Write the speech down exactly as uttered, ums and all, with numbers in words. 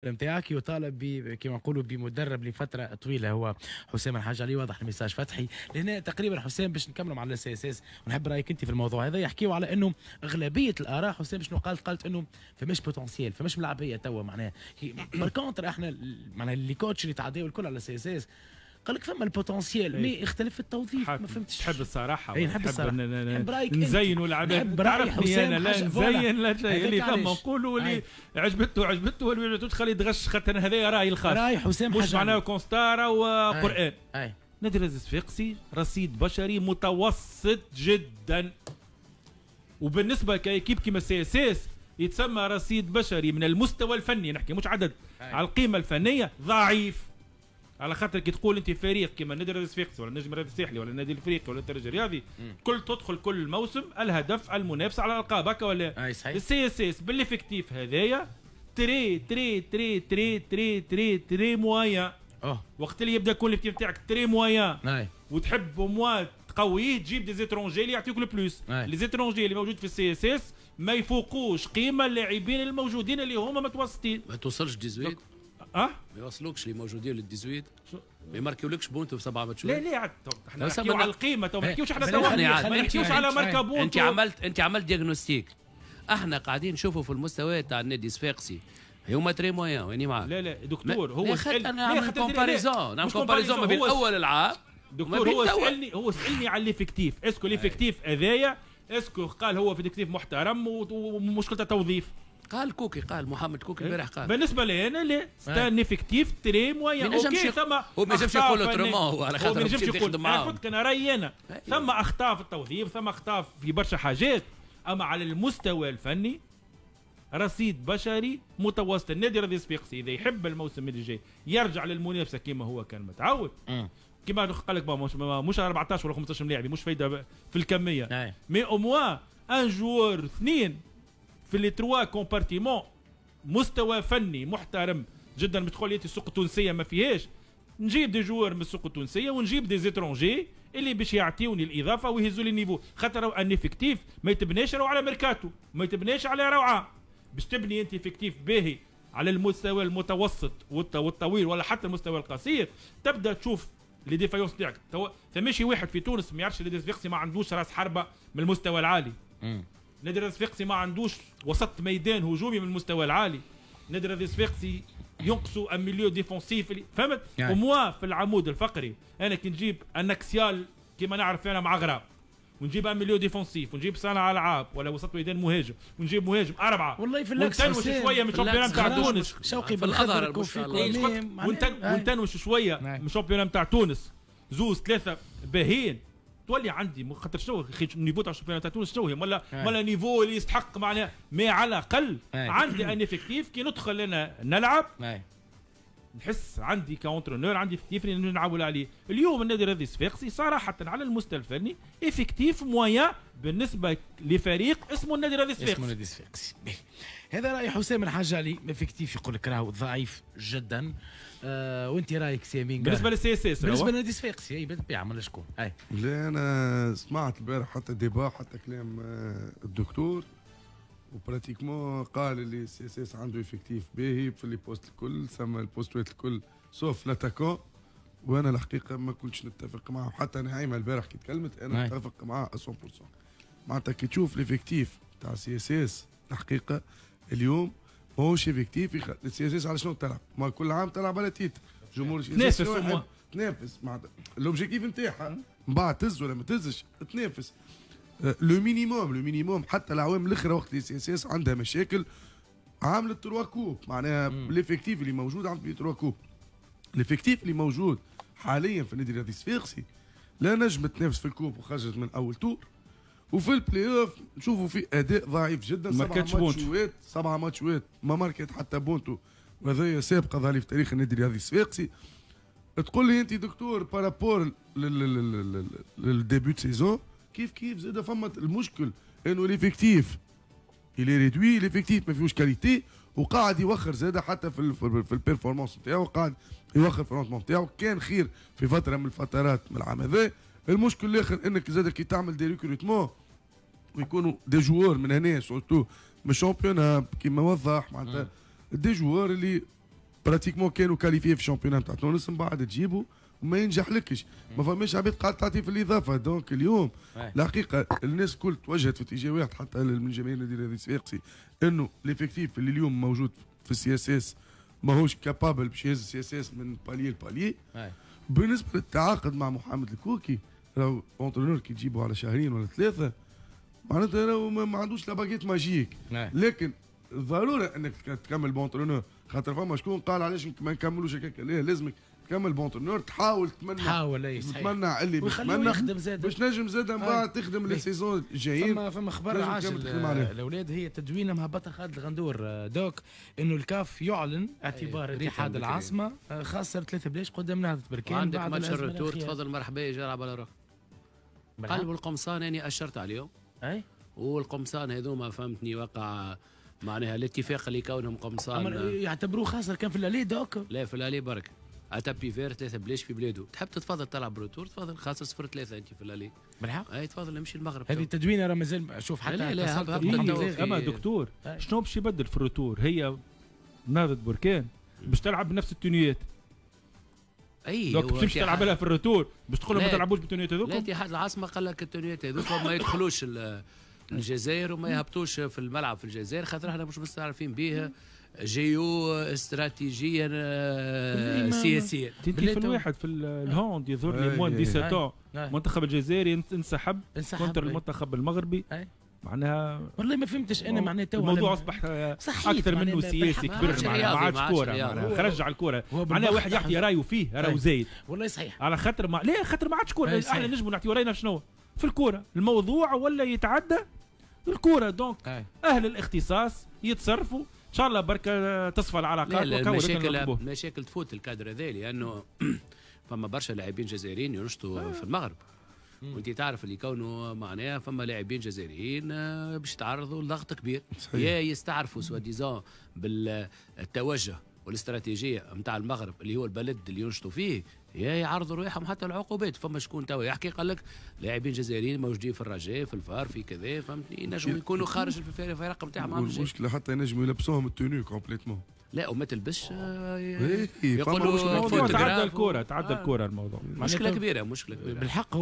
نتاعك يطالب ب كما نقولوا بمدرب لفترة طويله، هو حسام الحاج علي. واضح ال message فتحي لهنا تقريبا. حسام، باش نكملوا مع ال CSS ونحب رايك انت في الموضوع هذا. يحكيوا على انه اغلبية الاراء، حسام، شنو قالت؟ قالت انه فماش potentiel، فماش ملاعبيه توا. معناها par contre احنا معناها les coachs اللي تعداو الكل على ال CSS قال لك فما ال potentiel، mais اختلف في التوظيف. ما فهمتش. تحب الصراحه؟ اي، نحب الصراحه. نحب رايك. نزينوا العباد. تعرفني انا، لا نزين لا شيء، اللي فما نقولوا، اللي عجبته عجبته واللي ما عجبتوش خليه يتغش، خاطر هذا رايي الخاص. راي حسام. مش معناه constat وقران. نادي الصفاقسي رصيد بشري متوسط جدا، وبالنسبة ك équipe كيما CSS يتسمى رصيد بشري من المستوى الفني، نحكي مش عدد، على القيمة الفنية ضعيف. على خاطر كي تقول انت فريق كيما النادي الرياضي الصفاقسي ولا النجم الرياضي الساحلي ولا النادي الافريقي ولا الترجي الرياضي، كل تدخل كل موسم الهدف المنافسة على الالقاب، هكا ولا؟ اي صحيح. ال CSS بال effectif هذايا très très très très très très très moyen. اه وقت اللي يبدا يكون l'effectif تاعك très moyen وتحب au moins تقوية، تجيب des étrangers اللي يعطيوك le plus. les étrangers اللي موجود في ال CSS ما يفوقوش قيمة اللاعبين الموجودين اللي هما متوسطين. ما توصلش ثمنطاش. اه ما يوصلوكش اللي موجودين لل ثمنطاش، ما يماركيولكش بونتو في سبعة ماتشات. لا لا، عاد احنا نحكيو على القيمه، تو ما نحكيوش احنا تو ما نحكيوش على ماركا بونتو. انت عملت انت عملت diagnostic. احنا قاعدين نشوفوا في المستوى تاع النادي الصفاقسي هما très moyens، واني معاك. لا لا دكتور، هو سأل انا نعمل comparaison، نعمل comparaison ما بين اول العام. دكتور، هو سالني هو سالني على l'effectif، est-ce que l'effectif هذايا، est-ce que قال هو في effectif محترم ومشكلته توظيف. قال كوكي، قال محمد كوكي البارح قال. بالنسبة لي انا لا، c'est un effectif très moyen. OK، ثم هو ما ينجمش يقول autrement، هو على خاطر ما ينجمش يقول. انا قلت انا رايي انا، ثم اخطاء في التوظيف، ثم اخطاء في برشا حاجات، اما على المستوى الفني رصيد بشري متوسط. النادي الرياضي الصفاقسي اذا يحب الموسم اللي جاي يرجع للمنافسة كما هو كان متعود، كما قال لك مش, مش أربعطاش ولا خمسطاش لاعب، مش فايده في الكميه، mais au moins un joueur اثنين في les trois compartiments مستوى فني محترم جدا. بتقول لي السوق التونسية ما فيهاش، نجيب des joueurs من السوق التونسية ونجيب des étrangers اللي باش يعطيوني الاضافة ويهزوا لي niveau، خاطر un effectif ما يتبناش راهو على ميركاتو، ما يتبناش على روعه. باش تبني انت effectif باهي على المستوى المتوسط والطويل ولا حتى المستوى القصير، تبدا تشوف les défaillances تاعك. تو فماشي واحد في تونس ما يعرفش النادي الصفاقسي ما عندوش راس حربه من المستوى العالي، نادي الصفاقسي ما عندوش وسط ميدان هجومي من المستوى العالي، نادي الصفاقسي ينقصوا un milieu défensif، فهمت؟ يعني au moins في العمود الفقري انا كي نجيب un axial كيما نعرف انا مع غراب، ونجيب un milieu défensif، ونجيب صانع العاب ولا وسط ميدان مهاجم، ونجيب مهاجم اربعه، والله في l'axe ونتنوش شوية من ال championnat نتاع تونس. شوقي بالخضر. ونتنوش شوية من ال championnat نتاع تونس، زوز ثلاثة باهين، تولي عندي. خاطر شنو ال niveau تاع ال championnat تاع تونس؟ شنو هي ولا ولا niveau اللي يستحق معناها، mais على الاقل عندي un effectif كي ندخل انا نلعب نحس عندي ك entraîneur عندي effectif اللي نعول عليه. اليوم النادي الرياضي الصفاقسي صراحة على المستوى الفني effectif moyen بالنسبة لفريق اسمه النادي الرياضي الصفاقسي. اسمه النادي الصفاقسي. هذا راي حسام الحجالي، effectif يقول لك راهو ضعيف جدا. آه وانت رايك سي امين؟ بالنسبة لل CSS؟ بالنسبة للنادي الصفاقسي، اي بالطبيعه، من شكون اي. لا، انا سمعت البارح حتى débat، حتى كلام آه، الدكتور، و pratiquement قال اللي CSS عنده effectif باهي في les postes الكل، سما البوستوات الكل sauf l'attaquant. وانا الحقيقة ما كنتش نتفق معه. حتى نعيمه البارح كي تكلمت انا نتفق معاه مية بالمية. معناتها كي تشوف l'effectif تاع CSS الحقيقة اليوم ماهوش effectif. ال CSS على شنو تلعب؟ ما كل عام تلعب على titre. جمهور تنافس. تنافس، معناتها l'objectif نتاعها من بعد تهز ولا ما تهزش، تنافس le minimum، le minimum. حتى العوام الاخرى وقت اللي CSS عندها مشاكل عملت trois coupes، معناها l'effectif اللي موجود عملت trois coupes. l'effectif اللي موجود حاليا في النادي الرياضي الصفاقسي لا نجم تنافس في ال coupe وخرجت من اول tour، وفي البلاي اوف نشوفوا في اداء ضعيف جدا. سبعة ماتشوات، سبعة ماتشوات ما ماركت حتى بونتو، وهذا سابقه ظهر في تاريخ النادي الرياضي الصفاقسي. تقول لي انت دكتور par rapport لل début saison كيف كيف زاد فما المشكل انه l'effectif il est réduit، l'effectif ما فيهوش qualité، وقاعد يوخر زاد حتى في في ال performance نتاعو، قاعد يوخر في ال rendement نتاعو. كان خير في فترة من الفترات من العام هذا. المشكل الاخر انك زاد كي تعمل des recrutements ويكونوا des joueurs من هنا، surtout من ال championnat كيما وضح، معناتها des joueurs اللي pratiquement كانوا qualifiés في ال championnat نتاع تونس، من بعد تجيبوا وما ينجحلكش، ما فماش عباد قاعد تعطي في الاضافة. donc اليوم الحقيقة الناس الكل توجهت في اتجاه واحد، حتى من جماهير النادي الرياضي الصفاقسي، انه l'effectif اللي اليوم موجود في ال CSS ماهوش capable باش يهز ال CSS من palier ل palier. بالنسبة للتعاقد مع محمد الكوكي، راهو entraîneur كي تجيبه على شهرين ولا ثلاثة معناتها راهو ما عندوش la baguette magique، لكن الضرورة انك تكمل ب entraîneur، خاطر فما شكون قال علاش ما نكملوش هكاك، لا لازمك تكمل ب entraîneur، تحاول تمنع، تحاول تمنع اللي ويخليه يخدم زاد باش نجم زاد من بعد تخدم les saisons الجايين. فما فما خبر عاجل الاولاد، هي تدوينه مهبطه خالد الغندور دوك، انه الكاف يعلن اعتبار اتحاد العاصمة خسر ثلاثة بلاش قدام نهضة بركان. عندك ماتش ال retour، تفضل مرحبا يجي يلعب على روحه. قلب القمصان اني اشرت عليهم. اي والقمصان هذوما فهمتني وقع معناها الاتفاق اللي كونهم قمصان يعتبروه خاسر كان في l'aller دوك. لا في l'aller برك à tapis vert ثلاثة بلاش في بلاده، تحب تتفضل تلعب retour تفضل، خاسر صفر ثلاثة انت في l'aller. بالحق؟ اي تفضل امشي المغرب. هذه التدوينه راه مازال شوف حتى لا لا اما دكتور شنو باش يبدل في ال retour؟ هي نهضة بركان باش تلعب بنفس التونيات. اي donc باش تمشي تلعب لها في ال retour باش تقول لهم ما تلعبوش بالتونيات هذوك؟ لا اتحاد العاصمة قال لك التونيات هذوك ما يدخلوش الجزائر وما يهبطوش في الملعب في الجزائر، خاطر احنا مش مستعرفين به جيو استراتيجيا سياسيا. انت في الواحد في ال hand يظهر لي moins dix-sept المنتخب الجزائري انسحب contre المنتخب المغربي. معناها والله ما فهمتش انا معناها تو الموضوع اصبح اكثر منه سياسي كبر، معناها ما عادش كورة، معناها خرج على الكورة، معناها واحد يعطي رايه فيه راهو زايد. والله صحيح، على خاطر ما لا خاطر ما عادش كورة، احنا نجموا نعطيو راينا شنو في الكورة، الموضوع ولا يتعدى الكورة. donc اهل الاختصاص يتصرفوا ان شاء الله بركة تصفى العلاقات. لا لا المشاكل المشاكل تفوت الكادر هذا، لانه فما برشا لاعبين جزائريين ينشطوا آه. في المغرب، وانت تعرف اللي كونه معناها فما لاعبين جزائريين باش يتعرضوا لضغط كبير، يا يستعرفوا soi-disant بالتوجه والاستراتيجيه نتاع المغرب اللي هو البلد اللي ينشطوا فيه، يا يعرضوا رواحهم حتى العقوبات. فما شكون توا يحكي قال لك لاعبين جزائريين موجودين في الرجاء في الفار في كذا، فهمتني، ينجموا يكونوا خارج الفرق نتاعهم. المشكلة حتى ينجموا يلبسوهم ال tenue complètement. لا وما تلبسش، يقولوا تعدى الكره، تعدى الكره الموضوع. مشكلة كبيرة، مشكلة كبيرة بالحق.